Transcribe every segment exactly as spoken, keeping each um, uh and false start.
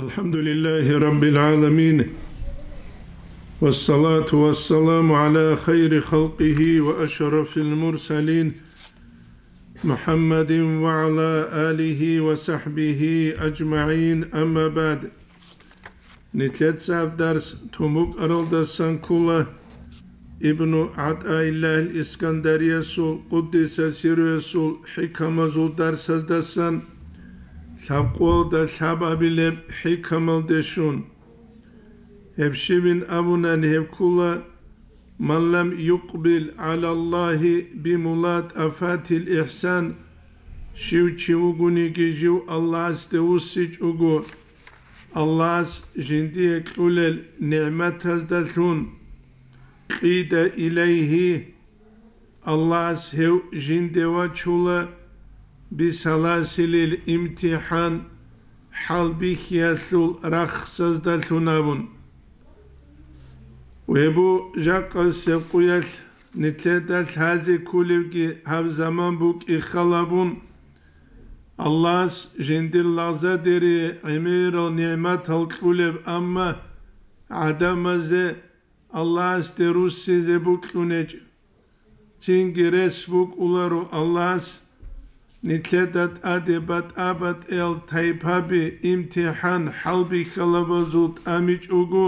الحمد لله رب العالمين، والصلاة والسلام على خير خلقه وأشرف المرسلين، محمد وعلى آله وصحبه أجمعين، أما بعد. Нилъеца гьаб дарс тун букӀаралдасан ккола Ибну ГӀатӀаиллагьил Искандариясул, къуддиса сирругьу, хӀикамазул дарсаздасан, лъабкъоялда лъабабилеб гьабилеб хӀикамалде щун. Гьеб щибин абунани, гьеб ккола: «Ман лам юкъбил гӀала Аллагьи бимулатӀафатил ихсан», щив чи вугониги жив Аллагьасде вуссичӀого, Аллагьас жиндие кьулел нигӀматаздалъун, «кьида илайгьи», Аллагьас гьев жинде вачула, «бисаласилил имтихӀан», хӀалбихьиялъул рахсаздалъун абун. Гьеб жакъасеб къуялъ нилъеда лъазе кколебги гьаб заман букӀи халабун, Аллагьас жиндир лагъзадери гӀемерал нигӀматал кьулеб, амма гӀадамазе Аллагьасде руссизе букьунечӀ. Цинги рес букӀуларо Аллагьас нилъеда тӀаде батӀа-батӀиял тайпаби имтихӀан хӀалбихьалабазул тӀамичӀого,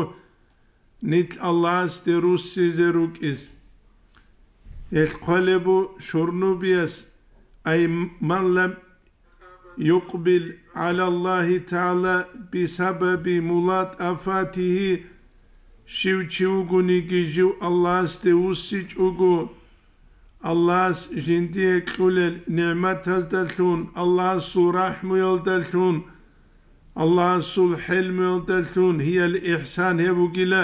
нилъ Аллагьасде руссизе рукӀиз. Гьелъ хъвалеб бу Шурнубияс: «Ай ман лам юкъбил гӀала Аллагьи тагӀала бисабаби мулатӀафатигьи», щив чи вугониги жив Аллагьасде вуссичӀого, Аллагьас жиндие кьулел нигӀматаздалъун, Аллагьасул рахӀмуялдалъун, Аллагьасул хӀелмуялдалъун, гьиял ихсан гьеб бугила,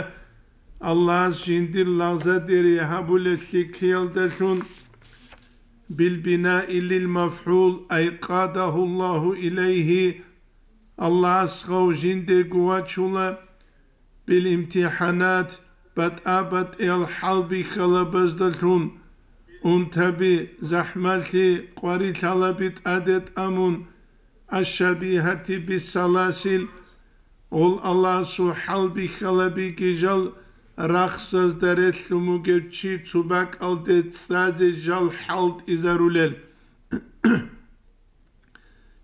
Аллагьас жиндир лагъзадери гьабулел лъикӀлъиялдалъун, «билбинаи лил мафгӀул», ай къадагьу Аллагьу илайгьи, Аллагьас гьав жиндего вачула, «бил имтихӀанат», батӀа-батӀиял хӀалбихьалабаздалъун, унтаби, захӀмалъи, къварилъалаби тӀаде тӀамун, «аш-шабигьати бис-саласил», гъол Аллагьасул хӀалбихьалабиги жал рахсазда релълъун бугев чи цо бакӀалде цӀазе жал хӀалтӀизарулел.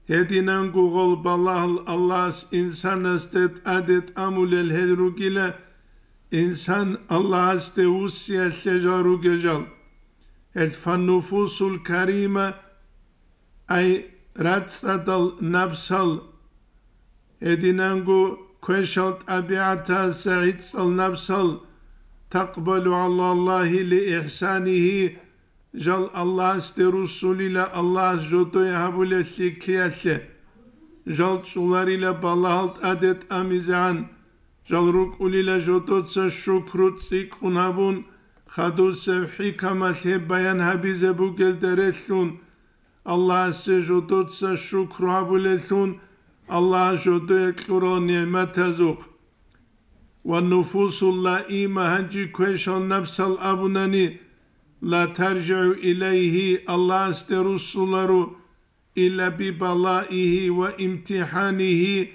Гьединанго гъол балагьал Аллагьас инсанасде тӀаде тӀамулел гьел ругила, инсан Аллагьасде вуссиялъе жал ругел жал. Гьел фаннуфусул карима, ай рацӀцӀадал напсал, гьединанго квешал тӀабигӀатаса гӀицӀал напсал, такъбалу гӀала Аллагьи ли ихсанигьи, жал Аллагьасде руссулила Аллагьас жодое гьабулел лъикӀлъиялъе, жал чӀоларила балагьал тӀаде тӀамизегӀан, жал рукӀулила жодоца шукру цӀикӀкӀун гьабун, хадусеб хӀикамалъ гьеб баян гьабизе бугелда релълъун, Аллагьасе жодоца шукру гьабулеллъун, Аллагьас жодое кьурал нигӀматазухъ. Ва нуфусул лаима, гьанже квешал напсал абунани, ла таржигӀу илайгьи, Аллагьасде руссуларо, илла бибалаигьи ва имтихӀанигьи,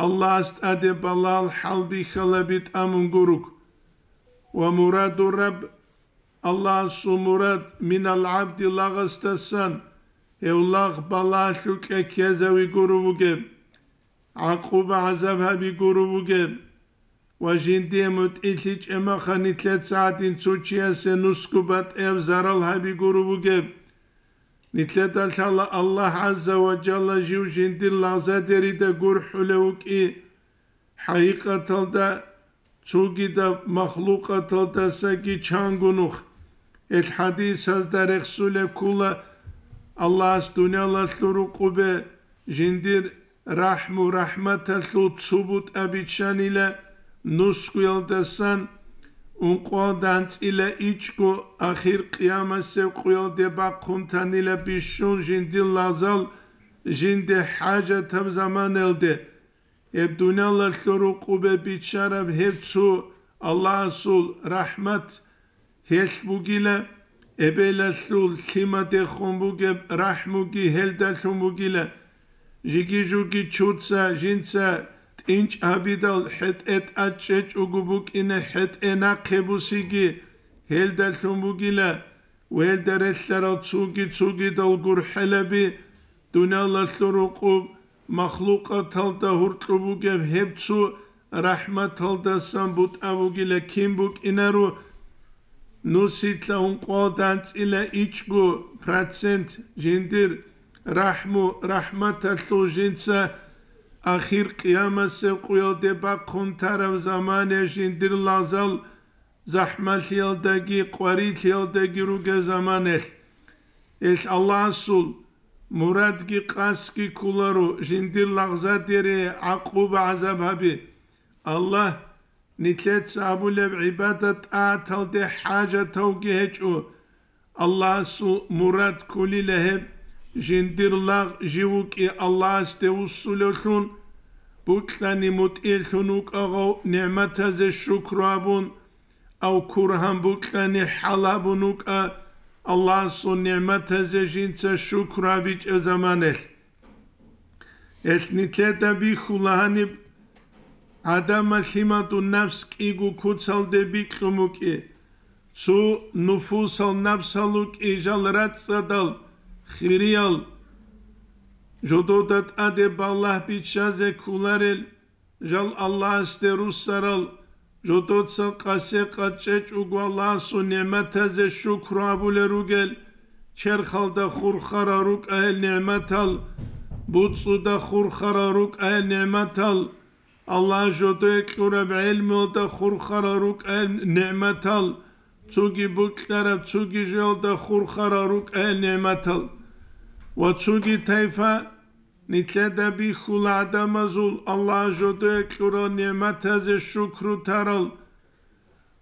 Аллагьас тӀаде балагьал хӀалбихьалаби тӀамун гуруг. Ва мураду Рабб, Аллагьасул мурад, минал гӀабди, лагъасдасан, гьев лагъ балагьалъукьа ккезави гуру вугеб, гӀакъуба-гӀазаб гьаби гуру вугеб, ва жиндие мутӀигӀлъи чӀемахъа нилъеца гӀадин цо чиясе нусго батӀияб зарал гьаби гуру вугеб. Нилъеда лъала Аллагь гӀазза ва жалла жив жиндир лагъзадерида гурхӀулев вукӀи, хӀакъикъаталда цогидаб махлукъаталдасаги чанго нух. Гьел хӀадисазда рехсулеб ккола, Аллагьас дуниялалъул рукъубе жиндир рахӀму-рахӀматалъул цо бутӀа биччанила нусгуялдасан, ункъоялда анцӀила ичӀго, ахир къиямасеб къуялде бахъун танила бищун жиндир лагъзал жинде хӀажатаб заманаялде. Гьеб дуниялалъул рукъубе биччараб гьеб цо Аллагьасул рахӀмат гьелъ бугила, эбелалъул лъимадехун бугеб рахӀмуги гьелдалъун бугила. Жиги-жуги чуца, жинца тӀинчӀ гьабидал хӀетӀе тӀад чӀечӀого букӀине хӀетӀе нахъе бусиги, гьелдалъун бугила, ва гьелда релълъарал цуги-цугидал гурхӀелаби, дуниялалъул рукъуб махлукъаталда гьуркьу бугеб гьеб цо рахӀматалдасан бутӀа бугила кин букӀинаро, нусилъа ункъоялда анцӀила ичӀго процент жиндир рахӀму-рахӀматалъул жинца ахир къиямасеб къуялде бахъун тараб замане жиндир лагъзал захӀмалъиялдаги къварилъиялдаги ругел заманелъ. Гьелъ Аллагьасул мурадги къасдги кколаро жиндир лагъзадере гӀакъуба-гӀазаб гьаби. Аллагь, нилъеца абулеб гӀибадат-тӀагӀаталде хӀажатавги гьечӀо. Аллагьасул мурад кколила гьеб, жиндир лагъ жив вукӀи Аллагьасде вуссулевлъун, букьани мутӀигӀлъун вукӀа гъав нигӀматазе шукру абун, ав кургьан букьани хӀал гьабун вукӀа Аллагьасул нигӀматазе жинца шукру гьабичӀеб заманалъ. Гьелъ нилъеда бихьула гьаниб гӀадамал лъимадул напс кӀиго куцалде бикьун букӀи, цо нуфусал напсал рукӀи жал рацӀцӀадал, хириял, жодода тӀаде балагь биччазе кколарел, жал Аллагьасде руссарал, жодоца къасе къачӀечӀого Аллагьасул нигӀматазе шукру гьабулел ругел, черхалда хурхарал рукӀа гьел нигӀматал, буцӀцӀуда хурхарал рукӀа гьел нигӀматал, Аллагь жодое кьураб гӀелмуялда хурхарал рукӀа гьел нигӀматал, цоги букьараб, цоги жоялда хурхарал рукӀа гьел нигӀматал. Ва цоги тайфа нилъеда бихьула гӀадамазул Аллагь жодое кьурал нигӀматазе шукру тарал.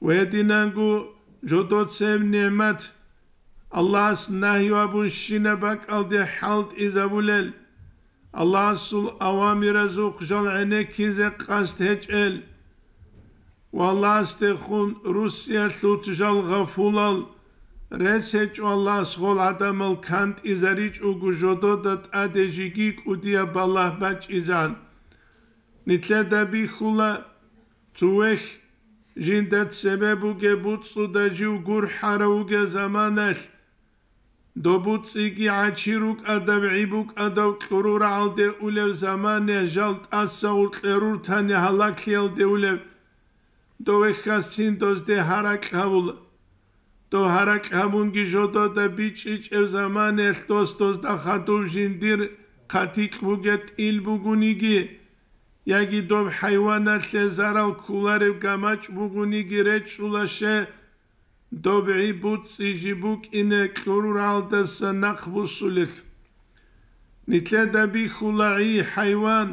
Гьединанго жодоцеб нигӀмат Аллагьас нагьи абун щинаб бакӀалде хӀалтӀизабулел, Аллагьасул авамиразухъ жал гӀенеккизе къасд гьечӀел ва Аллагьасдехун руссиялъулъ жал гъафулал, рес гьечӀо Аллагьас гъол гӀадамал кантӀизаричӀого жодода тӀаде жеги кӀудияб балагь бачӀизан. Нилъеда бихьула, цо вехь жинда цебе бугеб буцӀцӀуда жив гурхӀарав вугеб заманалъ, доб буцӀцӀиги гӀачи рукӀадаб, гӀи букӀадав кьурурагӀалде улев замане жал тӀаса гъуркье руртани гьалаклъиялде улев, дов вехьасцин дозде гьаракь гьавула. Дов гьаракь гьабунги жодода бичӀчӀичӀеб заманаялъ дос дозда хадув жиндир хъатикь бугеб тӀил бугониги, яги доб хӀайваналъе зарал кколареб гамачӀ бугониги речӀчӀула ще, доб гӀи буцӀцӀи жиб букӀине кьуруралдаса нахъ бусулел. Нилъеда бихьула гӀи, хӀайван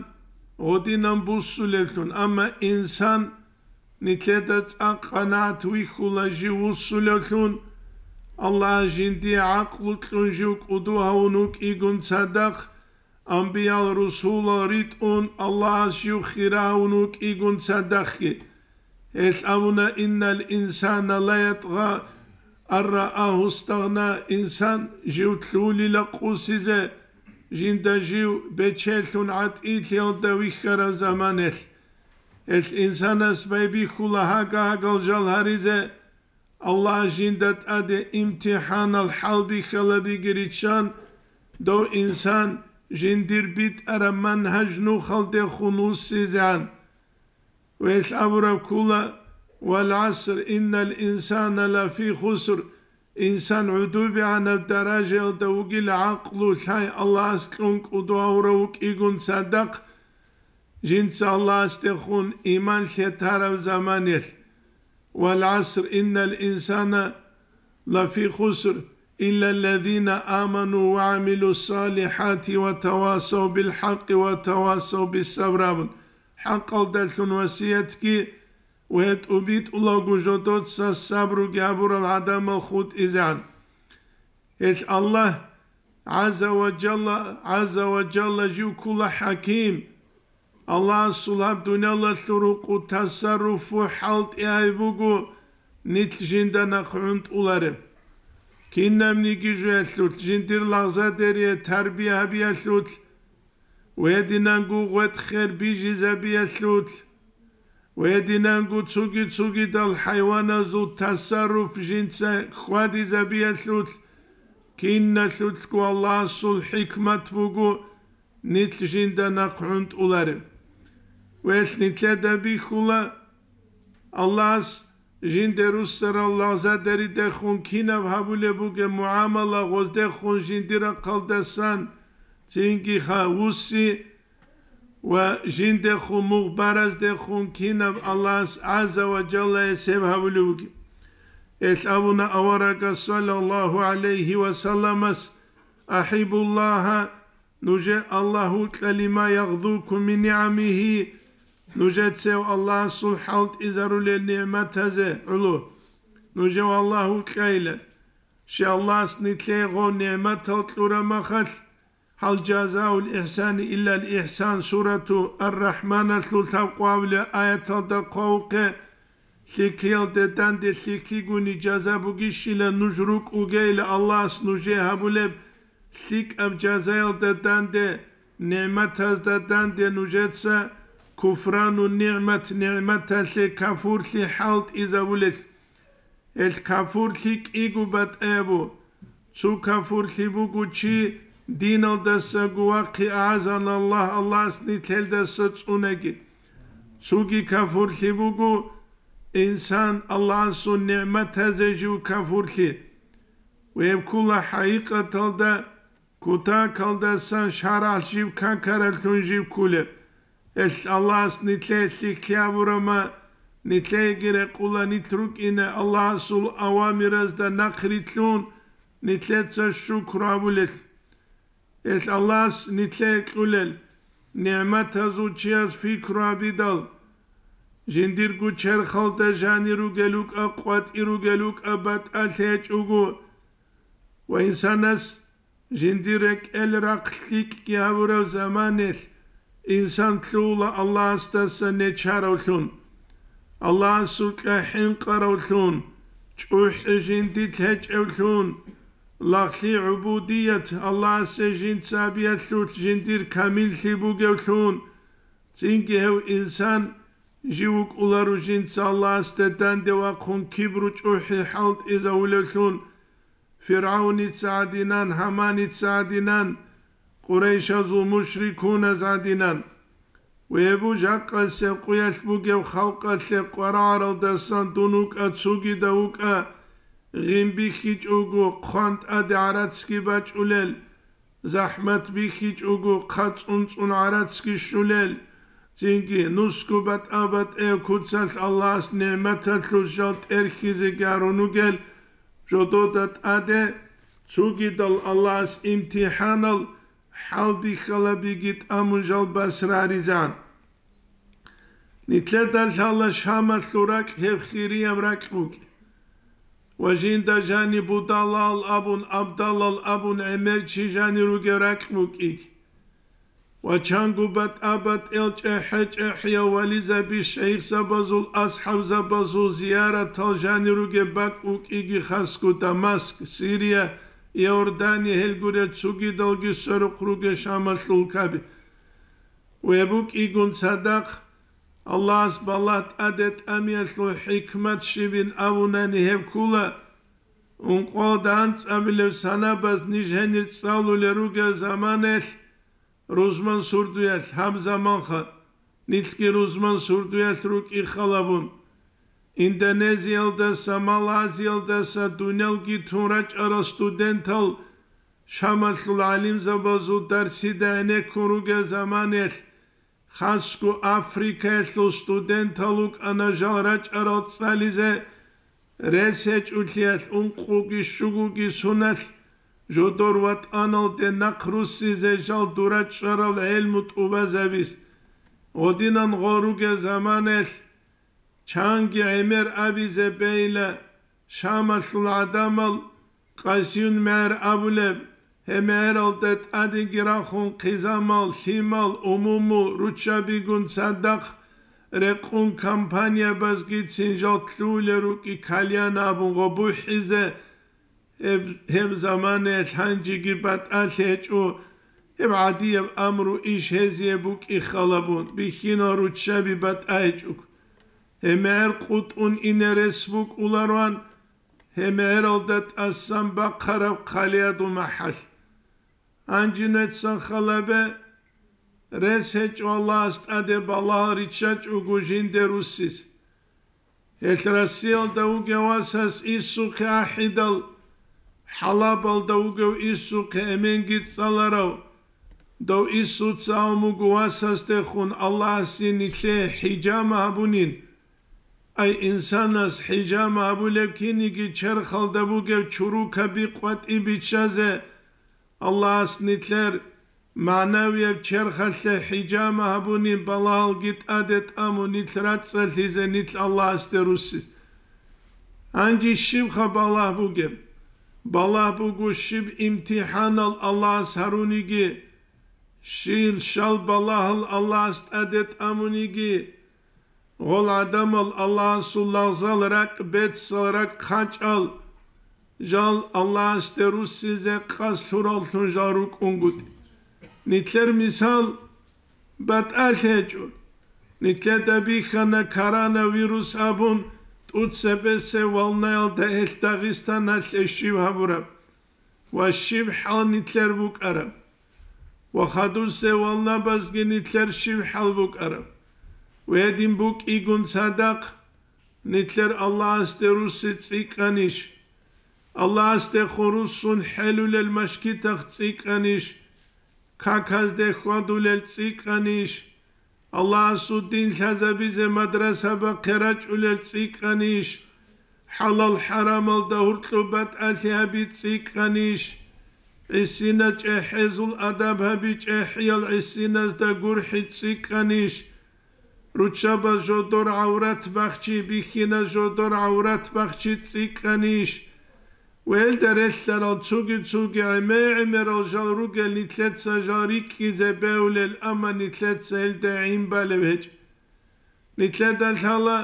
гъодинан бусулевлъун, амма инсан нилъеда цӀакъ къанагӀат вихьула жив вусулевлъун, Аллагьас жиндие гӀакълу кьун жив кӀуду гьавун вукӀигун цадахъ, амбиял-русулал ритӀун Аллагьас жив хира гьавун вукӀигун цадахъги. Гьелъ абуна: «Иннал инсана ла ятгъа ан раагьу стагъна», инсан жив лъулила къусизе, жинда жив бечелъун гӀатӀилъиялда вихьараб заманалъ. Гьелъ инсанас байбихьула гьага-гьагал жал гьаризе, Аллагь жинда тӀаде имтихӀанал хӀалбихьалабиги риччан, дов инсан жиндир битӀараб манхӀаж нухалдехун вуссизегӀан. Гьелъ абураб ккола: «Вал гӀаср, иннал инсана лафи хуср», инсан гӀудубигӀанаб даражаялда вугила гӀакълу лъай Аллагьас кьун кӀуду гьавурав вукӀигун цадахъ, жинца Аллагьасдехун иман лъетараб заманалъ. «Вал гӀаср, иннал инсана лафи хуср, иллаллазина аману ва гӀамилу салихати ва тавасав бил хӀакъи ва тавасав бис сабр», абун, хӀакъалдалъун васиятги ва гьетӀубитӀулаго жодоца сабруги гьабурал гӀадамал хутӀизегӀан. Гьелъ Аллагь гӀазза ва жалла, гӀазза ва жалла жив ккола хӀаким. Аллагьасул гьаб дуниялалъул рукъу тасарруфу хӀалтӀи гьаб буго нилъ жинда нахъ гӀунтӀулареб. Кинабниги жоялъулъ, жиндир лагъзадерие тарбия гьабиялъулъ, ва гьединанго гъветӀ-хер бижизабиялъулъ, ва гьединанго цоги-цогидал хӀайваназул тасарруф жинца хьвадизабиялъулъ, киналъулъго Аллагьасул хӀикмат буго нилъ жинда нахъ гӀунтӀулареб. Ва гьелъ нилъеда бихьула, Аллагьас жинде руссарал лагъзадеридехун кинаб гьабулеб бугеб мугӀамала гъоздехун жиндир рахъалдасан, цинги ха вусси ва жиндехун мугъ бараздехун кинаб Аллагьас гӀазза ва жаллаяс гьеб гьабулеб бугеб. Гьелъ абуна аварагас, саллаллагьу гӀалайгьи ва салламас: «АхӀиббуллагьа, нужер Аллагь вукьа, лима ягъзукум мин нигӀамигьи, нужецев Аллагьасул хӀалтӀизарулел нигӀматазе гӀоло. Нужев Аллагь вукьайилан. Щай Аллагьас нилъее гъов нигӀматал кьураб махалъ, гьал жазаул ихӀсани иллал ихӀсан» сурату Ар-РахӀманалъул лъабкъоялда аяталда хъвавухъе, лъикӀлъиялда данде лъикӀлъигуни жаза бугищила нуж рукӀугейила Аллагьас нужее гьабулеб лъикӀаб жазаялда данде, нигӀматазда данде нужеца куфрану нигӀмат, нигӀматалъе кафурлъи хӀалтӀизабулел. Гьелъ кафурлъи кӀиго батӀаяб буго. Цо кафурлъи буго чи диналдасаго вахъи, агӀазаналлагь, Аллагьас нилъелдаса цӀунаги. Цоги кафурлъи буго инсан Аллагьасул нигӀматазе жив кафурлъи. Гьеб ккола хӀакъикъаталда кутакалдасан шаргӀалъ жив какаралъун жив кколеб. Гьелъ Аллагьас нилъее лъикӀлъи гьабураб ма, нилъееги рекъула нилъ рукӀине Аллагьасул авамиразда нахърилълъун, нилъеца шукру гьабулел. Гьелъ Аллагьас нилъее кьулел нигӀматазул чияс пикру гьабидал, жиндирго черхалда жанир ругел рукӀа, къватӀир ругел рукӀа, батӀалъи гьечӀого, ва инсанас жиндир рекӀел рахъ лъикӀги гьабураб заманалъ инсан лъугьула Аллагьасдаса нечаравлъун, Аллагьасукьа хӀинкъаравлъун, чӀухӀи жиндилъ гьечӀевлъун, лагълъи гӀубудият Аллагьасе жинца гьабиялъулъ жиндир камиллъи бугевлъун, цинги гьев инсан жив вукӀуларо жинца Аллагьасде данде вахъун кибру чӀухӀи хӀалтӀизавулевлъун, ФиргӀавница гӀадинан, Гьаманица гӀадинан, Къурайшазул мушрикуназ гӀадинан. Ва гьеб жакъасеб къуялъ бугеб халкъалъе къварагӀаралдасан дун вукӀа, цогидав вукӀа, гъим бихьичӀого, хъван тӀаде гӀарацги бачӀулел, захӀмат бихьичӀого, хъа цӀун-цӀун гӀарацги щулел, цинги нусго батӀа-батӀе куцалъ Аллагьас нигӀматалъул жал тӀерхьизе гарун ругел, жодода тӀаде цогидал Аллагьас имтихӀанал хӀалбихьалабиги тӀамун жал басраризан. Нилъеда лъала Шамалъул ракь гьеб хирияб ракь букӀин. Ва жинда жаниб Будалал абун, Абдалал абун гӀемер чи жанир ругев ракь букӀин. Ва чанго батӀа-батӀел чӀехӀе-чӀехӀиял вализаби, шайихзабазул, асхӀабзабазул зияратал жанир ругеб бакӀ букӀин, хасго Дамаск, Сирия, Иордания, гьел гурел цогидалги сверухъ ругел Шамалъул улкаби. Ва гьеб букӀигун цадахъ, Аллагьас балагь тӀаде тӀамиялъул хӀикмат щибин абунани гьеб ккола, ункъоялда анцӀабилеб санабаз ниж гьенир цӀалулел ругел заманаялъ рузман сурдуялъ, гьаб заманха нилъги рузман сурдуялъ рукӀин халабун, Индонезиялдаса, Малайзиялдаса дунялги тун рачӀарал студентал Шамалъул гӀалимзабазул дарсида гӀенеккун ругел заманаялъ, хасго Африкаялъул студентал вукӀана жал рачӀарал цӀализе, рес гьечӀолъиялъ ункъоги щугоги суналъ жодор ватӀаналде нахъ руссизе жал дур рачӀарал гӀелму тӀубазабиз. Гъодинан гъол ругел заманаялъ чанги гӀемер абизе бейла Шамалъул гӀадамал Къасиюн мегӀер абулеб, гьеб мегӀералда тӀадеги рахун хъизамал, лъимал, умуму, руччабигун цадахъ рекъун компаниябазгицин жал лъугьулел рукӀин кальян абун гъо бухӀизе, гьеб, гьеб заманаялъ гьанжеги батӀалъи гьечӀо, Гьеб гӀадияб амру иш гьезие букӀи халабун, бихьинал руччаби батӀайчӀук. ГьемегӀер къутӀун ине рес букӀулароан, гьемегӀералда тӀасан бахъараб хъалиядул махӀал. Гьанжинецан халабе, рес гьечӀо Аллагьас тӀаде балагьал риччачӀого жинде руссис. Гьелъ Россиялда вугев васас иссухъе ахӀидал, хӀалабалда вугев иссухъе эменги цӀаларав, дов иссуца авмуго васасдехун Аллагьасе нилъее хӀижама гьабунин. Ай, инсанас хӀижама гьабулеб киниги черхалда бугев чурукаби къватӀи биччазе, Аллагьас нилъер магӀнавияб черхалъе хӀижама гьабунин, балагьалги тӀаде тӀамун нилъ рацӀцӀалъизе, нилъ Аллагьасде руссис. Гьанже щибха балагь бугеб? Балагь буго, щиб имтихӀанал Аллагьас гьаруниги, щил щал балагьал Аллагьас тӀаде тӀамуниги, гъол гӀадамал Аллагьасул лагъзал ракӀ, бецал ракӀ хъачӀал, жал Аллагьасде руссизе къасд лъураллъун жал рукӀунгутӀи. Нилъер мисал батӀалъи гьечӀо. Нилъеда бихьана коронавирус абун, тӀуцебесеб волнаялда гьелъ Дагъистаналъе щиб гьабураб ва щиб хӀал нилъер букӀараб. Ва хадусеб волнабазги нилъер щиб хӀал букӀараб. Ва гьедин букӀигун цадахъ, нилъер Аллагьасде русси цӀикӀкӀанищ? Аллагьасдехун руссун хӀелулел машгитахъ цӀикӀкӀанищ? Каказде хьвадулел цӀикӀкӀанищ? Аллагьасул дин лъазабизе мадрасабахъе рачӀулел цӀикӀкӀанищ? ХӀалал-хӀарамалда гьуркьуб батӀалъи гьаби цӀикӀкӀанищ? ГӀисина чӀехӀезул адаб гьаби, чӀехӀиял гӀисиназда гурхӀи цӀикӀкӀанищ? Руччабаз жодор гӀаврат бахчи, бихьиназ жодор гӀаврат бахчи цӀикӀкӀанищ? Ва гьелда релълъарал цуги-цуги гӀемер-гӀемерал жал ругел нилъеца жал рикӀкӀизе бегьулел, амма нилъеца гьелда гӀин балев гьечӀ. Нилъеда лъала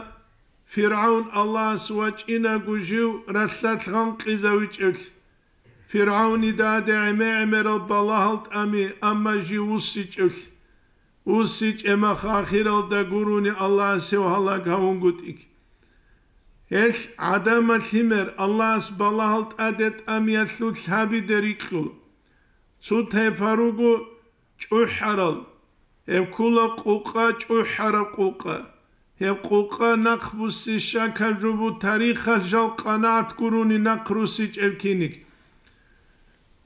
ФиргӀавн Аллагьас вачӀинаго жив ралъдалъ гъанкъизавичӀевлъи. ФиргӀавнида гӀаде гӀемер-гӀемерал балагьал тӀами, амма жив вуссичӀевлъи. ВуссичӀеб мах ахиралда гурони Аллагьас гьев гьалаг гьавунгутӀиги. Гьелъ гӀадамал лъимер Аллагьас балагьал тӀаде тӀамиялъул лъабиде рикьула. Цо тайпа руго чӀухӀарал, гьеб ккола къукъа, чӀухӀараб къукъа. Гьеб къукъа нахъ буссищакаб жо бу, тарихалъ жал къанагӀат гурони нахъ руссичӀеб киниг.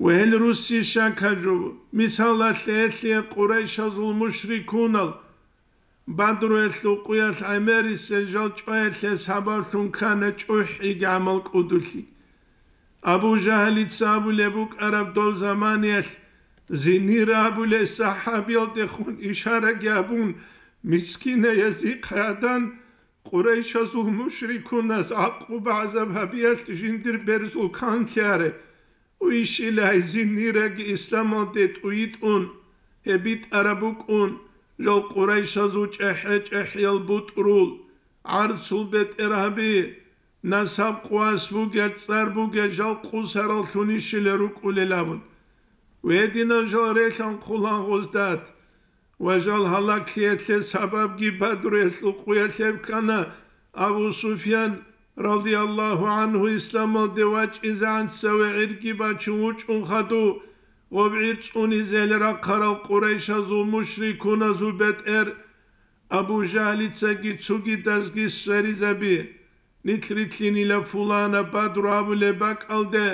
Ва гьел руссищакаб жо бу. Мисалалъе, гьелъие къурайшазул мушрикунал Бадруялъул къуялъ гӀемерисел жал чӀваялъе сабаблъун ккана чӀухӀиги гӀамал кӀудулъи. Абу Жагьлица абулеб букӀараб дов заманиялъ, зинир абулей сахӀабиялдехун ишараги абун, мискинай язихъ гӀадан, къурайшазул мушрикуназ гӀакъуба-гӀазаб гьабиялъ жиндир берзул канлъи аре. Уйщилай зинираги исламалде тӀуитӀун, гьеб битӀараб букӀун, жал къурайшазул чӀехӀе-чӀехӀиял бутӀрул, гӀарцул бетӀергьаби, насаб-къуват бугел, цӀар бугел жал къусараллъунищила рукӀулел абун. Гьединал жал релъанхъулан гъоздат. Ва жал гьалаглъиялъе сабабги Бадруялъул къуялъ гьеб ккана. Абу Суфьян, радияллагьу гӀангьу, исламалде вачӀизегӀан цеве гӀирги бачун вучӀун хадув, гъоб гӀир цӀунизел рахъарал къурайшазул мушрикуназул бетӀер Абу Жагьлицаги цогидазги сверизаби. Нилъ рилълъинила пуланаб Бадру абулеб бакӀалде.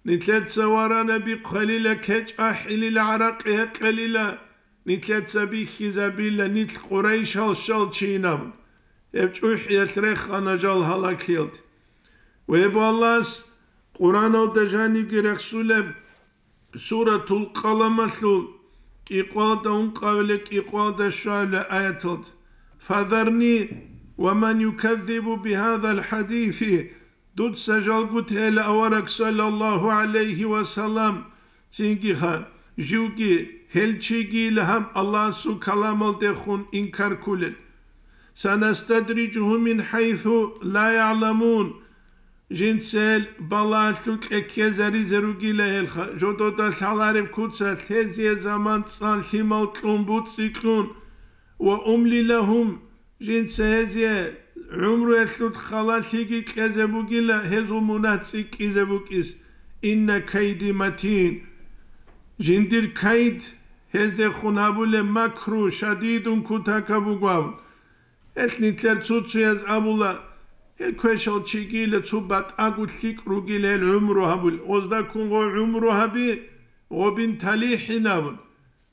Нилъеца варанаби хъвелила, кечӀ ахӀилила, гӀаракъи гьекъелила, нилъеца бихьизабила, нилъ къурайшал щалчинаб. Гьеб чӀухӀиялъ рехана жал гьалаглъиялде. Ва гьеб Аллагьас Къуръаналда жанибги рехсулеб Суратул Къаламалъул кӀикъвалда ункъабилеб, кӀикъвалда щуабилеб аяталда: «Фазарни ва ман юказзибу бигьазал хӀадиси», дуца жалго тела, авараг саллаллагьу гӀалайгьи ва саллам, цинги ха, живги, гьел чиги ил гьаб Аллагьасул каламалдехун инкар кколел. «Санастадриджугьум мин хӀайсу ла ягӀламун». Жинцел балагьалъул кьеккезаризе ругила гьелха, жодода лъалареб куцалъ гьезие заман цӀан лъимал кьун, буцӀцӀи кьун, ва умли лагьум, жинца гьезие гӀумруялъул халалъиги кьезе бугила, гьезул мунагь цӀикӀкӀизе букӀис. Инна кайди матин. Жиндир кайд, гьездехун гьабулеб макру, шадидун кутакаб буго абун. Гьелъ нилъер цо-цояз абула, гьел квешал чигила цо батӀаго лъикӀ ругила гьел гӀумру гьабул, гъозда ккун гъо гӀумру гьаби, гъобин талихӀин абун.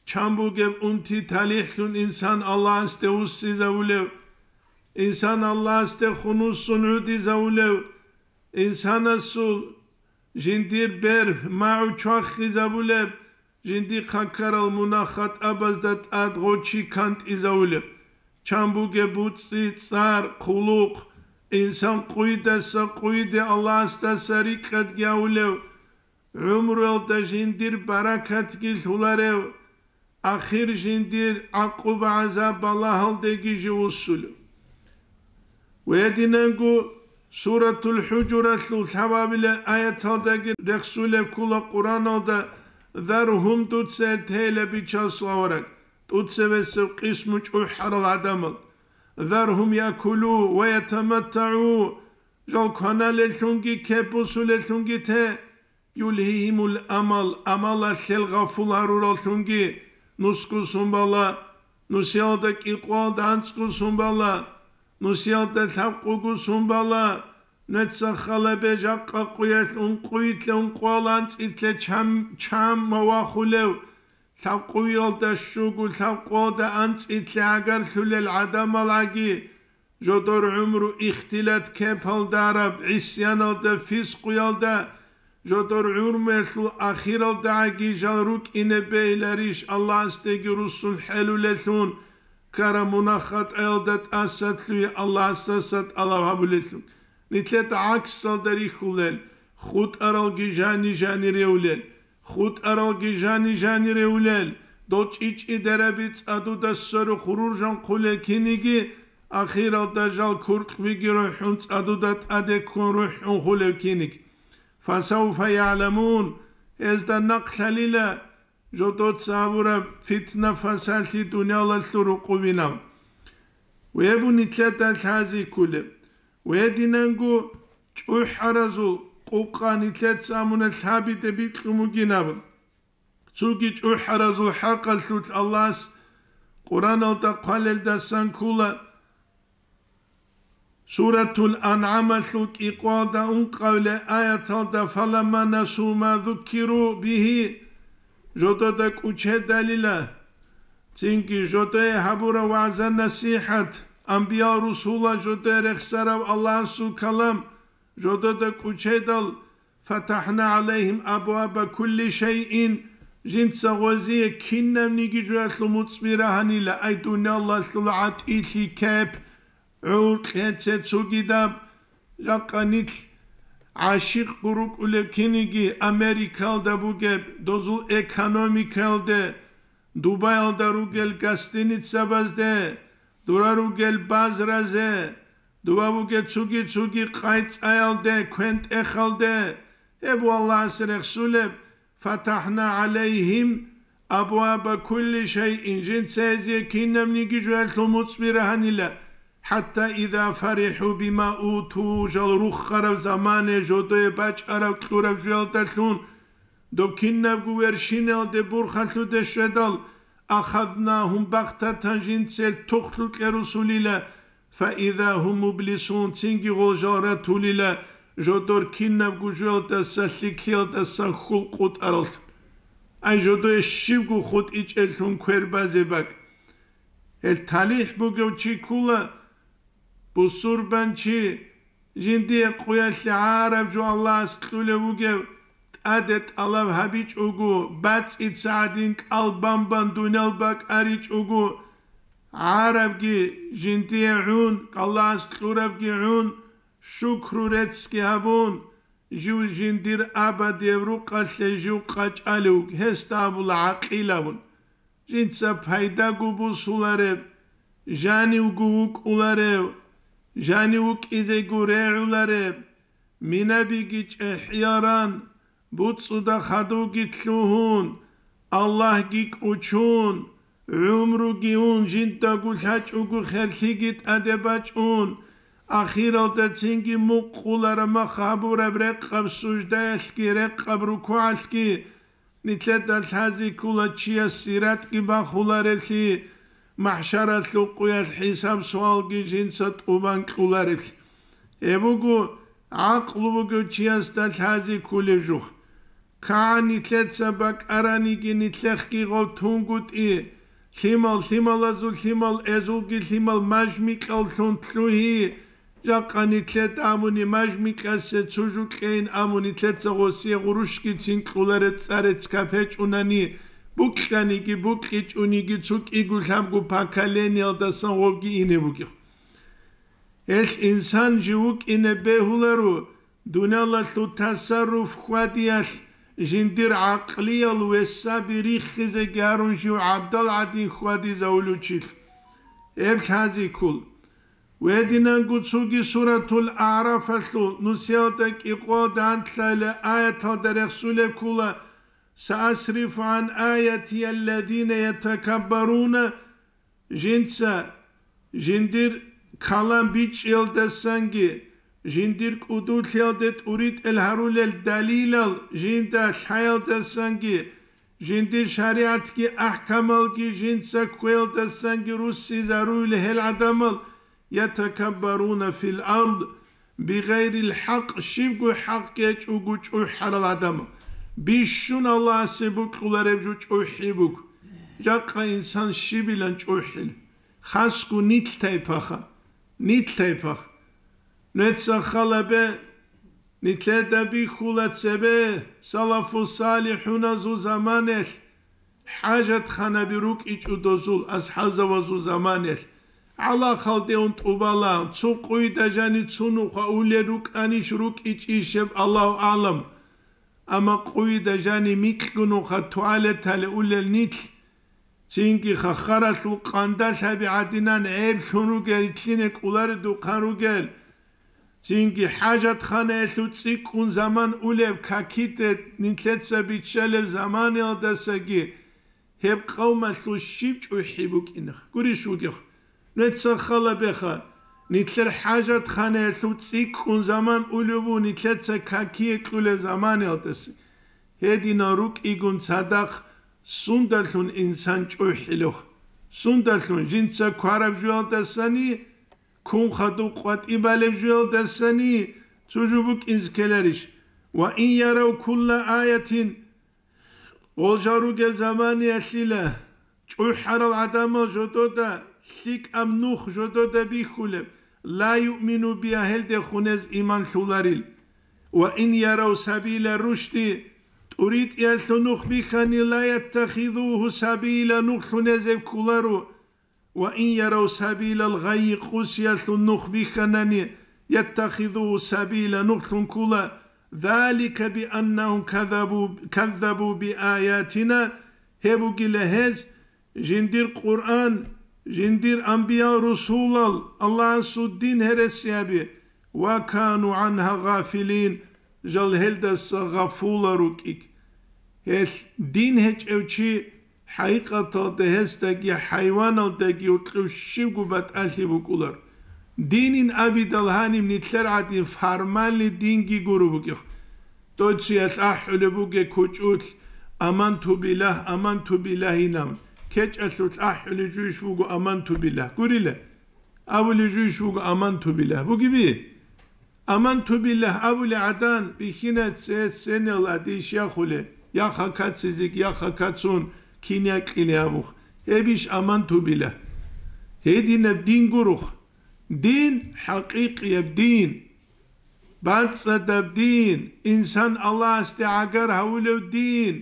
Чан бугеб унти талихӀлъун инсан Аллагьасде вуссизавулев, инсан Аллагьасде хунуссун гӀудизавулев, инсанасул жиндир бер магӀу чвахизабулеб, жиндихъа ккарал мунагь-хатӀабазда тӀад гъочи кантӀизавулеб, чан бугеб буцӀцӀи, цӀар, хъулухъ, инсан къуйдаса къуйде Аллагьасдаса рикӀкӀадги авулев, гӀумруялда жиндир баракатги лъуларев, ахир жиндир гӀакъуба-гӀазаб балагьалдеги живуссулев. Ва гьединанго Суратул ХӀужуралъул лъабабилеб аяталдаги рехсулеб ккола Къуръаналда: «Заргьум», дуца гьел тейила, бичасул авараг, тӀуцебесеб къисму чӀухӀарал гӀадамал. «Заргьум якулу ва ятаматтагӀу», жал кваналеллъунги кеп бусулеллъунги те, «юлгьигьимул амал», амалалъел гъафул гьарураллъунги, нусгу сун бала, нусиялда кӀикъвалда анцӀго сун бала, нусиялда лъабкъого сун бала, нуца халабе жакъа къуялъ ункъуйилъа ункъвал анцӀилъа чам, чам мавахулев, лъабкъуялда щуго лъабкъода анцӀилъа гӀагарлъулел гӀадамал гӀаги, жодор гӀумру ихтилат кепалда араб, гӀисяналда, фискъуялда, жодор гӀумруялъул ахиралдагӀаги жал рукӀине бегьиларищ Аллагьасдеги руссун хӀелулеллъун, ккара мунагь-хатӀаялда тӀасалъуе Аллагьасдаса тӀалаб гьабулеллъун. Нилъеда гӀаксалда рихьулел, хутӀаралги жани-жани ревлел. ХутӀаралги жани-жани ревлел, дол чӀичӀи дераби цӀадуда сверухъ руржанхъулел киниги, ахиралда жал куркьбиги рухӀун цӀадуда тӀаде ккун рухӀунхъулев киниги. Фасавфа ягӀламун, гьезда нахълъалила жодоца гьабураб фитна-фасалъи дуниялалъул рукъубинаб. Вебу нилъеда лъази ккулеб. Гьединанго чӀухӀаразул къукъа нилъеца амуна лъабиде бикьун бугин абун. Цоги чӀухӀаразул хӀакъалъулъ Аллагьас Къуръаналда хъвалелдасан ккола, Суратул АнгӀамалъул кӀикъвалда ункъавиле аяталда: «Фаламма насу ма зуккиру бигьи», жодода кӀучедалила, цинги жодое гьабура вагӀза-насихӀат, анбиял-русулал жодое рехсарав Аллагьасул калам жодода кӀучедал, «фатахӀна гӀалайгьим абваба кулли шайин», жинца гъозие кинабниги жоялъул муцӀби рагьанила, ай дуниялалъул гӀатӀилъи кеп, гӀуркье цецугидаб, жакъа нилъ гӀашикъго рукӀулеб киниги Америкалда бугеб, дозул экономикалде, Дубаялда ругел гостиницабазде, дура ругел базразе, дова бугеб цуги-цуги къайцӀаялде, квен-тӀехалде, гьеб Аллагьас рехсулеб, «фатахӀна гӀалайгьим абваба кулли шайин», жинца гьезие кинабниги жоялъул муцӀби рагьанила, «хӀатта иза фарихӀу бима уту», жал рухараб замане жодое бачӀараб кьураб жоялдалъун, доб кинабго вершиналде бурхалъуде щведал, «ахазнагьум багътатан», жинцел тухлъукье русулила, «фаиза гьум мублисун», цинги гъол жал ратулила, жодор кинабго жоялдаса, лъикӀлъиялдасан хьул къутӀаралъ. Ай, жодое щибго хутӀичӀеллъун квер базе бакӀ. Гьел талихӀ бугев чи ккула, бусурбанчи, жиндие къуялъе гӀараб жо Аллагьас кьулев вугев, тӀаде тӀалаб гьабичӀого, бацӀица гӀадин кӀал бан-бан дуниял бакӀ аричӀого, гӀарабги жиндие гӀун, Аллагьас кьурабги гӀун, шукру-реццги гьабун, жив жиндир абадияб рукъалъе жив къачӀалев вуго, гьесда абула гӀакъилабун. Жинца пайдаго бусулареб, жанивго вукӀуларев, жанив вукӀизего регӀулареб, минабиги чӀехӀияран, буцӀцӀуда хадувги лъугьун, Аллагьги кӀучун, гӀумруги ун жиндаго лъачӀого херлъиги тӀаде бачӀун, ахиралда цинги мукъулараб мах гьабураб рекъаб суждаялъги рекъаб рукугӀалъги, нилъеда лъази ккола чияс сиратги бахуларевлъи, махӀшаралъул къуялъ хӀисаб-суалги жинца тӀубан кьуларевлъи. Гьеб буго гӀакълу бугев чиясда лъази ккулев жух. КагӀан нилъеца бакӀараниги нилъехъги гъов тунгутӀи, лъимал лъималазул лъимал эзулги лъимал мажмикьаллъун лъугьи, жакъа нилъеда абуни мажмикьасе цо жукьейин абун нилъеца гъосие гъурущги цин кьулареб цӀарец капечӀунани, букьаниги букьичӀониги цо кӀиго-лъабго поколениялдасан гъовги ине бугев. Гьелъ инсан жив вукӀине бегьуларо, дуниялалъул тасарруф хьвадиялъ жиндир гӀакълиял весаби риххизеги гьарун жив гӀабдал гӀадин хьвадизавулев чилъ. Гьеб лъази ккол. Гьединанго цоги суратул АгӀрафалъул нусиялда кӀикъоялда анлъабилеб аяталда рехсулеб ккола: «Саасрифу гӀан аятия аллазина ятакаббаруна», жинца жиндир калам бичӀчӀиялдасанги, жиндир кӀудулъиялде тӀуритӀел гьарулел далилал жинда лъаялдасанги, жиндир шаригӀатги ахӀкамалги жинца кквеялдасанги руссизаруйла гьел гӀадамал, ятакаббаруна фил ард бигъайрил хӀакъ, щибго хӀакъ гьечӀого чӀухӀарал гӀадамал. Бищун Аллагьасе бокьулареб жо чӀухӀи буго. Жакъа инсан щибилан чӀухӀил, хасго нилъ тайпаха, нилъ тайпаха. Нуца халабе, нилъеда бихьула цебе салафу-салихӀуназул заманаялъ хӀажатханаби рукӀичӀо дозул асхӀабзабазул заманаялъ. ГӀалахалде ун тӀубала, цо къуйда жани цо нуха улел рукӀанищ рукӀичӀищ гьеб, Аллагьу агӀлам. Амма къуйда жани микьго нуха туалетале улел нилъ, цинги хахаралъул къандалъаби гӀадинан гӀеблъун ругел, итлъине кӀоларедухъан ругел, цинги хӀажатханаялъул цӀикӀкӀун заман улеб, какиде нилъеца биччалеб заманиялдасаги гьеб къавмалъул щиб чӀухӀи букӀинах, гурищ вугев? Нуца халабеха, нилъер хӀажатханаялъул цӀикӀкӀун заман улеб буго нилъеца какие кьулел заманиялдаса. Гьединал рукӀигун цадахъ сундалъун инсан чӀухӀилев? Сундалъун жинца квараб жуялдасани, кун хадуб къватӀиб балеб жуялдасани цо жо букӀинзе ккеларищ? «Ва ин ярав кулла аятин», гъол жал ругел заманиялъила чӀухӀарал гӀадамал жодода лъикӀаб нух жодода бихьулеб, «ла юъмину биха», гьелдехун гьез иман лъуларил. «Ва ин ярав сабила рушди», тӀуритӀиялъул нух бихьани, «ла яттахизуху сабила», нухлъун гьез гьеб кколаро. «Ва ин ярав сабилал гъайи», къусиялъул нух бихьанани, «яттахизуху сабила», нухлъун ккола, «залика бианнахум казабу, каззабу биаятина», гьеб бугила гьез, жиндир Къуръан, жиндир анбиял-русулал, Аллагьасул дин гьересиаби, «ва кану гӀанха гъафилин», жал гьелдаса гъафула рукӀиг. Гьелъ дин гьечӀев чи, хӀакъикъаталда гьесдаги хӀайваналдаги гьоркьов щибго батӀалъи букӀулар. Динин абидал гьаниб нилъер гӀадин формальный динги гуро букӀих. Дой цоял ахӀулеб бугеб кучӀулъ: «Аманту биллагь, аманту биллагь», инан. КечӀалъулъ ахӀулеб жуйищ буго «Аманту биллагь»? Гурила. Абулеб жуйищ буго «Аманту биллагь»? Бугеби? «Аманту биллагь» абулеб гӀадан бихьинай цеценал адиш яхуле, яха кацизеги, яха кацун кин якьиле абух. Гьебищ «Аманту биллагь»? Гьединаб дин гурух. Дин, хӀакъикъияб дин, бацӀцӀадаб дин, инсан Аллагьасде гӀагар гьавулев дин,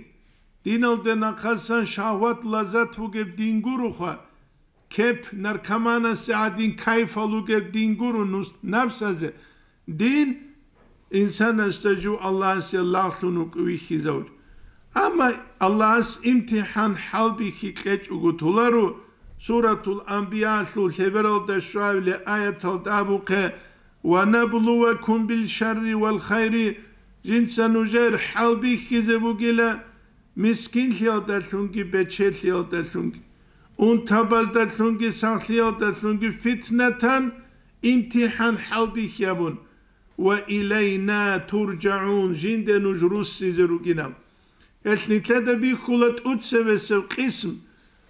диналде нахъасан шагьват-лаззат бугеб дин гуруха. Кеп наркоманасе гӀадин кайфал ругеб дин гуро нус-, напсазе. Дин инсанасда жив Аллагьасе лагълъун вукӀи вихьизавли. Амма Аллагьас имтихӀан хӀалбихьи кьечӀого толаро, Суратул Анбиялъул лъебералда щвабилеб аяталда абухъе: «Ва наблувакум бил шарри вал хайри», жинца нужер хӀалбихьизе бугила мискинлъиялдалъунги бечелъиялдалъунги, унтабаздалъунги сахлъиялдалъунги фитнатан, имтихӀан, хӀалбихьи абун, «ва илайна туржагӀун», жинде нуж руссизе ругинаб. Гьелъ нилъеда бихьула тӀуцебесеб къисм,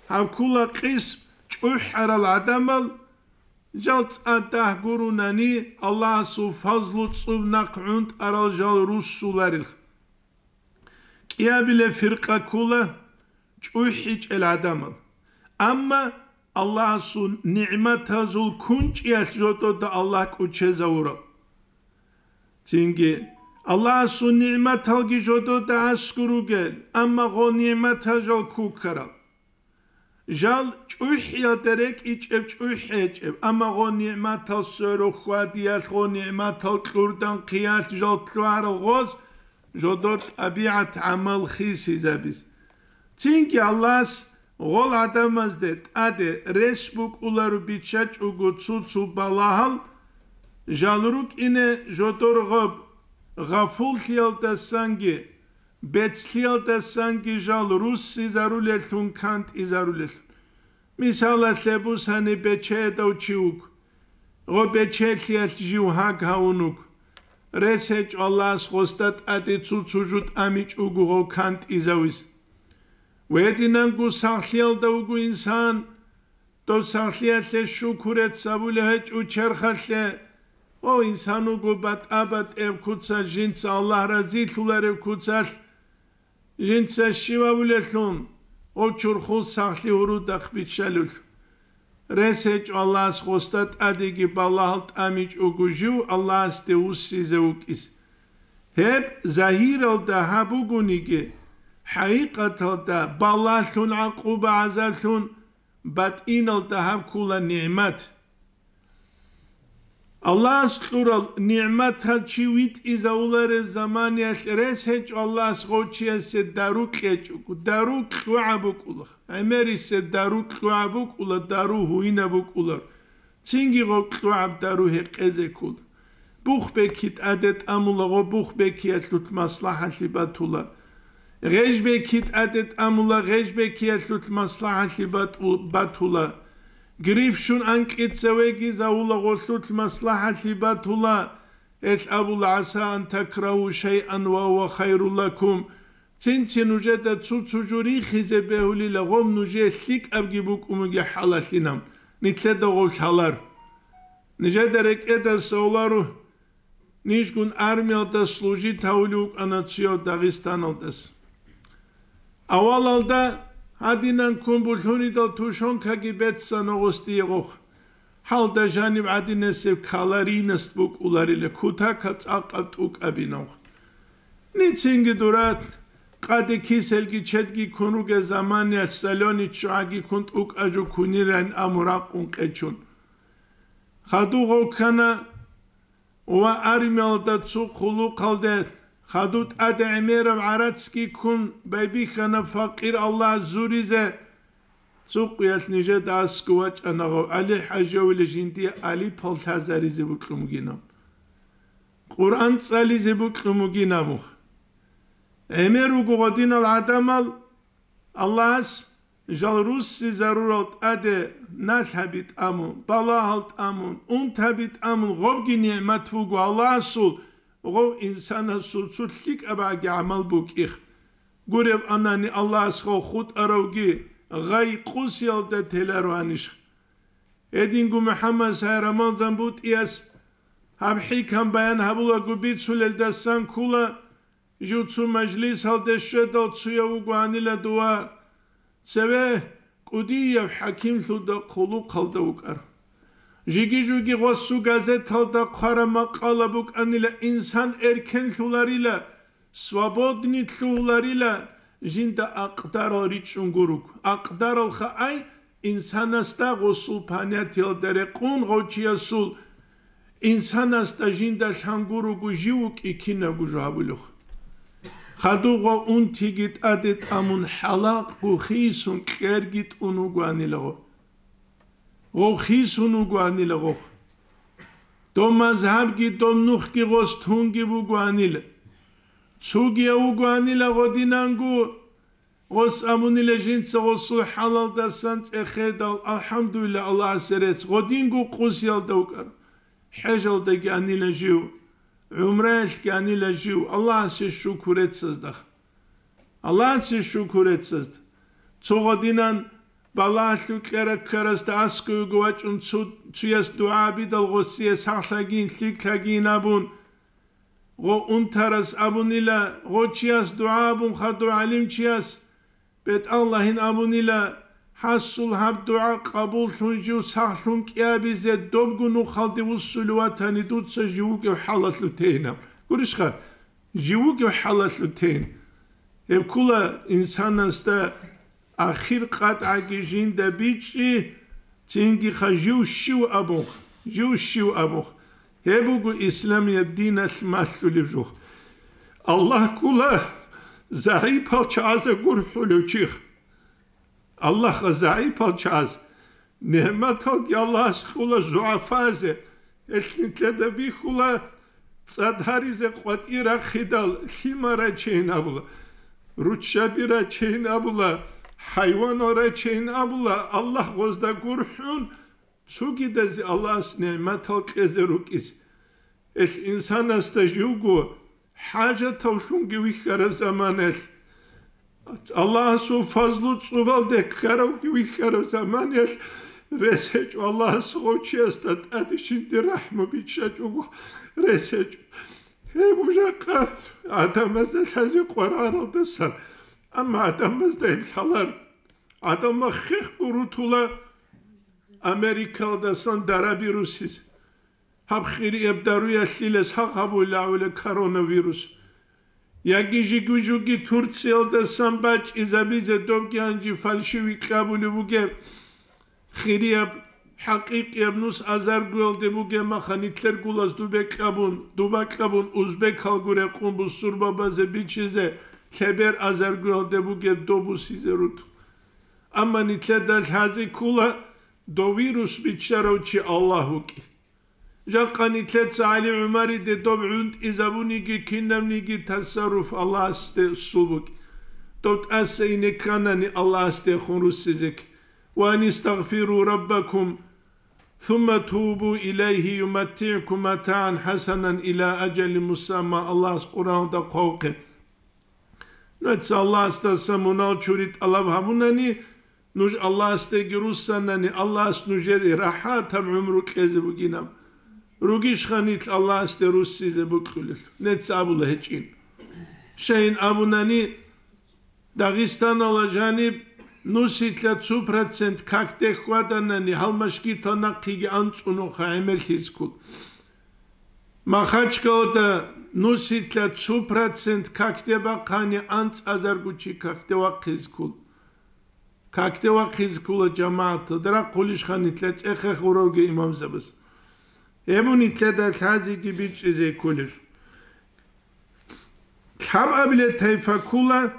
гьаб ккула къисм чӀухӀарал гӀадамал, жал цӀа дагь гурунани, Аллагьасул фазлу цӀуб нахъ гӀунтӀарал жал руссуларел. КӀиабилеб фиркъа ккула чӀухӀичӀел гӀадамал. Амма Аллагьасул нигӀматазул кунчӀиялъ жодода Аллагь кӀучезавурал. Цинги Аллагьасул нигӀматалги жодода аскӀор ругел, амма гъо нигӀматал жал кукарал. Жал чӀухӀиялда рекӀичӀеб чӀухӀи гьечӀеб, амма гъо нигӀматал сверухъ хьвадиялъ, гъо нигӀматал кьурдан хъиялъ жал лъугьарал гъоз жодор тӀабигӀат-гӀамал хисизабиз. Цинги Аллагьас гъол гӀадамазде тӀаде рес букӀуларо биччачӀого цо-цо балагьал, жал рукӀине жодор гъаб, гъафуллъиялдасанги, бецлъиялдасанги жал руссизарулеллъун, кантӀизарулеллъун. Мисалалъе бусани, бечедав чи вуго, гъо бечелъиялъ жив гьаг гьавун вуго. Рес гьечӀо Аллагьас гъосда тӀаде цо-цо жо тӀамичӀого гъо кантӀизавиз. Гьединанго сахлъиялда вуго инсан, дов сахлъиялъе шукурец гьабулев гьечӀо черхалъе. О, инсан вуго батӀа-батӀияб куцалъ, жинца Аллагь разилъулареб куцалъ, жинца щив абулелъул, о, чурхул сахлъи гьурудахъ биччалел. Рес гьечӀо Аллагьас гъосда тӀадеги балагьал тӀамичӀого жив Аллагьасде вуссизе вукӀиз. Гьеб загьиралда гьаб бугониги, хӀакъикъаталда балагьлъун, гӀакъуба-гӀазаблъун, батӀиналда гьаб ккула нигӀмат. Аллагьас кьурал нигӀматал чи витӀизавулареб заманиялъ рес гьечӀо Аллагьас гъов чиясе дару кьечӀого, дару кьогӀаб букӀула, гӀемерисе дару кьогӀаб букӀула, дару гьуинаб букӀулар, цинги гъов кьогӀаб дару гьекъезе ккола. Бух бекки тӀаде тӀамула, гъо бух беккиялъулъ маслахӀалъи батула. Гъеж бекки тӀаде тӀамула, гъеж беккиялъулъ маслахӀалъи бату-, батула. Гриф щун анкьица вегизавула, гъолъулъ маслахӀалъи батула. Гьелъ абула: «ГӀаса ан такрагьу шайъан ва гьува хайрун лакум». Цинци нужеда цо-цо жо рихизе бегьулила, гъом нужее лъикӀабги букӀунги хӀалалъинаб, нилъеда гъов лъалар. Нижеда рекӀедаса оларо, нижгун армиялда служить гьавулев вукӀана цояв Дагъистаналдаса. Авалалда гьадинан ккун булъунидал тушонкаги беццана гъосие гъохъ. Гьалда жаниб гӀадинасеб калорийность букӀуларила, кутакаб цӀакъаб тӀукӀабинавха. Ницинги дурат, къаде киселги чедги ккун ругел заманиялъ солёный ччугӀаги ккун тӀукӀа жо кунирайин аму ракъун къечун. Хадув гъов ккана ва армиялда цо хъулухъалде, хадув тӀаде гӀемераб гӀарацги ккун, байбихьана факъир Аллагь зуризе. Цо къуялъ нижеда аскӀов вачӀана гъов ГӀали-хӀаживиле жиндие алипал лъазаризе букьун бугинаб, Къуръан цӀализе букьун бугинаб мух. ГӀемер руго гъодинал гӀадамал, Аллагьас жал руссизарурал тӀаде налъаби тӀамун, балагьал тӀамун, унтаби тӀамун, гъобги нигӀмат буго Аллагьасул, гъов инсанасул цо лъикӀаб гӀаги гӀамал букӀих. Гуреб анани, Аллагьас гъов хутӀаравги гъай къусиялда теларо гьаниш. Гьединго МухӀаммад Сай Рамазан БутӀияс гьаб хӀикам баян гьабулаго бицулелдасан ккула, жив цо мажлисалде щведал цояв вугоанила дова, цеве кӀудияб хӀакимлъуда хъулухъалда вукӀар. Жиги-жуги гъосу газеталда хъвараб макъала букӀанила, инсан эркенлъуларила, свободнитлъуларила, жинда акъдарал ричӀчӀун гуруг. Акъдаралха ай, инсанасда гъосул понятиялда рекъун гъов чиясул, инсанасда жинда лъан гуруго жив вукӀи кинабго жо гьабулев. Хадуб гъов унтиги тӀаде тӀамун хӀалакъго хисун кьерги тӀун вугоанила гъов. Гъов хисун вугоанила гъов. Дов мазгьабги дов нухги гъос тунги бугоанила. Цугияв вугоанила гъодинанго, гъос абунила жинца гъосул хӀалалдасан цӀехедал, алхӀамдулилла, Аллагьасе рецц, гъодинго къусиялда вукӀан. ХӀежалдаги анила жив, гӀумраялъги анила жив, Аллагьасе шукур реццазда. Аллагьасе шукур реццазда. Цо гъодинан балагьалъув кьера ккарасда аскӀовего вачӀун цу-, цуяс дугӀа абидал гъосие сахлъагин, лъикӀлъагин абун, гъо унтарас абунила, гъо чияс дугӀа абун хадув гӀалимчияс, бетӀаллагьин абунила, гьасул гьаб дугӀа къабуллъун жив сахлъун кӀиабизе добго нухалде вуссулев ватани дуца жив вугев хӀалалъув тейинаб. Гурищха, жив вугев хӀалалъув тейин. Гьеб ккула инсанасда ахир къатӀаги жинда бичӀчӀи, цинги ха жив щив абунх, жив щив абунх. Гьеб буго исламияб диналъ малъулев жух. Аллагь ккула загӀипал чагӀаза гурхӀулев чих. Аллагьха загӀипал чагӀаз. НигӀматалги Аллагьас кьула зугӀафазе, гьелъ нилъеда бихьула цӀад гьаризе къватӀир рахъидал лъимал рачейин абула, руччаби рачейин абула, хӀайванал рачейин абула, Аллагь гъозда гурхӀун, цугидазе Аллагьас нигӀматал кьезе рукӀизе. Гьелъ инсанасда живго хӀажатавлъунги вихьараб заманаялъ, Аллагьасул фазлу цӀубалде ккаравги вихьараб заманаялъ рес гьечӀо, Аллагьас гъов чиясда тӀаде жинде рахӀму бичӀчӀачӀого рес гьечӀо. Гьеб жакъа гӀадамазда лъазе къваргӀаралдасан, амма гӀадамазда гьеб лъалар. ГӀадамал хехго рутула Америкалдасан дараби руссизе. Гьаб хирияб даруялъилес гьагъ гьабулев гӀула коронавирус. Яги жиги-жуги Турциялдасан бачӀизабизе добги гьанжи фальшивый кьабулеб бугеб. Хирияб, хӀакъикъияб нус азаргоялде бугеб маха нилъер гулас дубе кьабун, дуба кьабун, узбекалгу рекъун бусурбабазе бичизе, лъебер азаргоялде бугеб добусизе руту. Амма нилъеда лъазе ккула, дов вирус биччарав чи Аллагь вукӀи. Жакъа нилъеца ГӀали ГӀумариде доб гӀунтӀизабуниги кинабниги тасарруф Аллагьасде сул букӀ. Доб тӀаса ине кканани Аллагьасдехун руссизе кки. Ва ан истагъфиру раббакум, сумма тубу илайгьи юматтигӀкум матагӀан хӀасанан ила ажалин мусамма, Аллагьас Къуръаналда хъвавухъе. Нужеца Аллагьасдаса мунал чури тӀалаб гьабунани, нуж Аллагьасдеги руссанани, Аллагьас нужее рахӀатаб гӀумру кьезе бугинаб. Ругищха нилъ Аллагьасде руссизе букьулел? Нецц абула гьечӀин. Щайин абунани, Дагъистаналда жаниб нусилъа цо процент какде хьваданани, гьал машгитал нахъеги анцӀунуха гӀемерлъизе ккол. Махачкалада нусилъа цо процент какде бахъани, анцӀазарго чи какде вахъизе ккол. Какде вахъизе ккола жамагӀаталда, рахъулищха нилъер цӀехех гуравги имамзабаз. Гьеб нилъеда лъазеги бичӀчӀизе кколел. Лъабабиле тайфа ккула,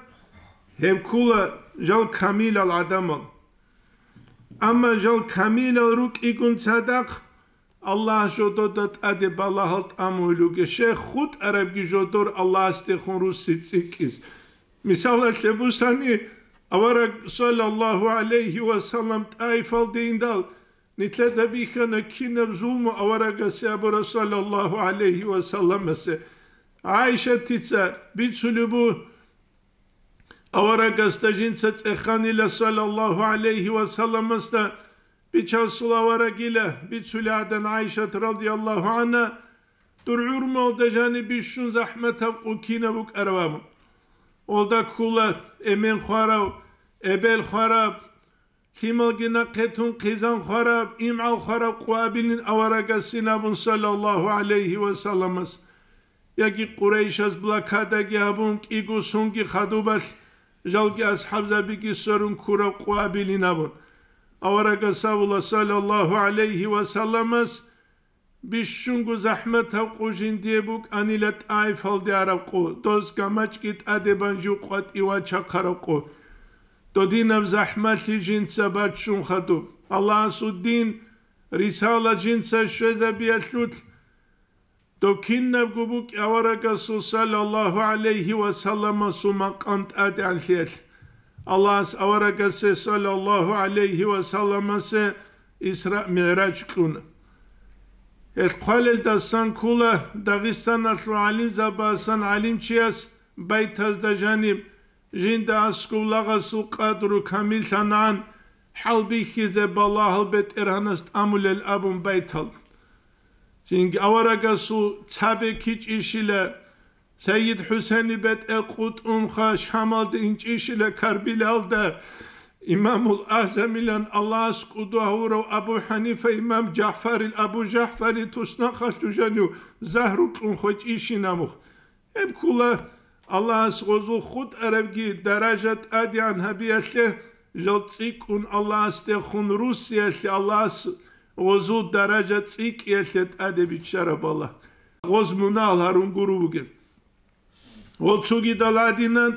гьеб ккула жал камилал гӀадамал. Амма жал камилал рукӀигун цадахъ, Аллагь жодода тӀаде балагьал тӀамугьулуге, щай хутӀарабги жодор Аллагьасдехун русси цӀикӀкӀиз. Мисалалъе бусани, авараг, саллаллагьу гӀалайгьи ва саллам, ТӀаифалде индал, нилъеда бихьана кинаб зулму аварагасе абура, саллаллагьу гӀалайгьи ва салламасе. ГӀайшатица бицулеб бу, аварагасда жинца цӀеханила, саллаллагьу гӀалайгьи ва салламасда, Бичасул аварагила, бицули гӀадан ГӀайшат радияллагьу гӀанха, дур гӀурмалда жаниб бищун захӀматаб къу кинаб букӀараб абун. Олда ккула эмен хварав, эбел хвараб, лъималги нахъе тун хъизан хвараб, имгӀал хвараб къу абилин аварагасин абун, саллаллагьу гӀалайгьи ва салламас. Яги Къурайшаз блокадаги гьабун, кӀиго сунги хадубалъ жалги асхӀабзабиги сверун ккураб къу абилин абун. Аварагас абула, саллаллагьу гӀалайгьи ва салламас, бищунго захӀматаб къу жиндие букӀанила ТӀаифалде араб къу, доз гамачӀги тӀаде бан жив къватӀив вачахъараб къу. Додинаб захӀмалъи жинца баччун хадуб. Аллагьасул дин, рисала жинца щвезабиялъулъ, Дов кинабго букӀи аварагасул саллаллагьу гӀалайгьи ва салламасул макъам тӀадегӀанлъиялъ. Аллагьас аварагасе саллаллагьу гӀалайгьи ва салламасе Исра МигӀраж кьуна. Гьел хъвалелдасан ккола Дагъистаналъул гӀалимзабасан гӀалимчияс байтазда жаниб, жинда аскӀов лагъасул къадру камиллъанагӀан хӀалбихьизе балагьал БетӀергьанас тӀамулел абун байтал. Цинги аварагасул цаби кичӀищила, Сайид ХӀусейни бетӀер къутӀунха Шамалде инчӀищила Карбилалда, Имамул АгӀзамилан Аллагьас кӀудо гьавурав Абу ХӀанифа имам ЖагӀфарил, Абу ЖагӀфарил туснахъалъув жанив загьру кьун хвечӀищинабух. Гьеб ккола Аллагьас гъозул хутӀарабги даража тӀадегӀан гьабиялъе, жал цӀикӀкӀун Аллагьасдехун руссиялъе Аллагьас гъозул даража цӀикӀкӀиялъе тӀаде биччараб Аллагь. Гъоз мунагьал гьарун гуро вугеб. Гъол цогидал гӀадинан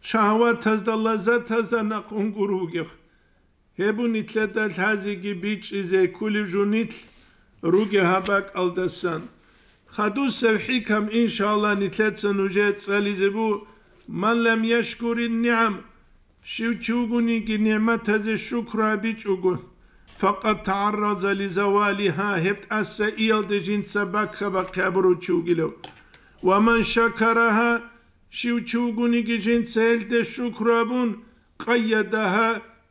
шагьаватазда, лаззатазда нахъун гуро вугев. Гьеб бу нилъеда лъазеги бичӀчӀизе кколеб жо нилъ ругел гьаб бакӀалдасан. Хадусеб хӀикам, иншалла, нилъеца нужее цӀализе бу: «Ман лам яшкурин нигӀам», щив чи вугониги нигӀматазе шукру гьабичӀого, «факъад тагӀарраза ли завалиха», гьеб тӀаса иялде жинца бакка-бахъи гьабурав чи вугилав. «Ва ман шакараха», щив чи вугониги жинца гьелде шукру гьабун, «къайядагьа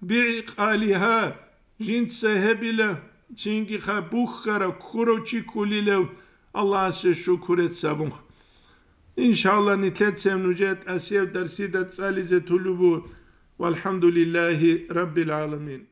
бигӀикъалигьа», жинца гьебила, цинги ха бухьарав, ккурав чи кколилав, Аллагьасе шукуреца абун. Иншалла, нилъецаяб нужее тӀасияб дарсида цӀализе тулубу. Валхамдулиллагьи раббил гӀаламин.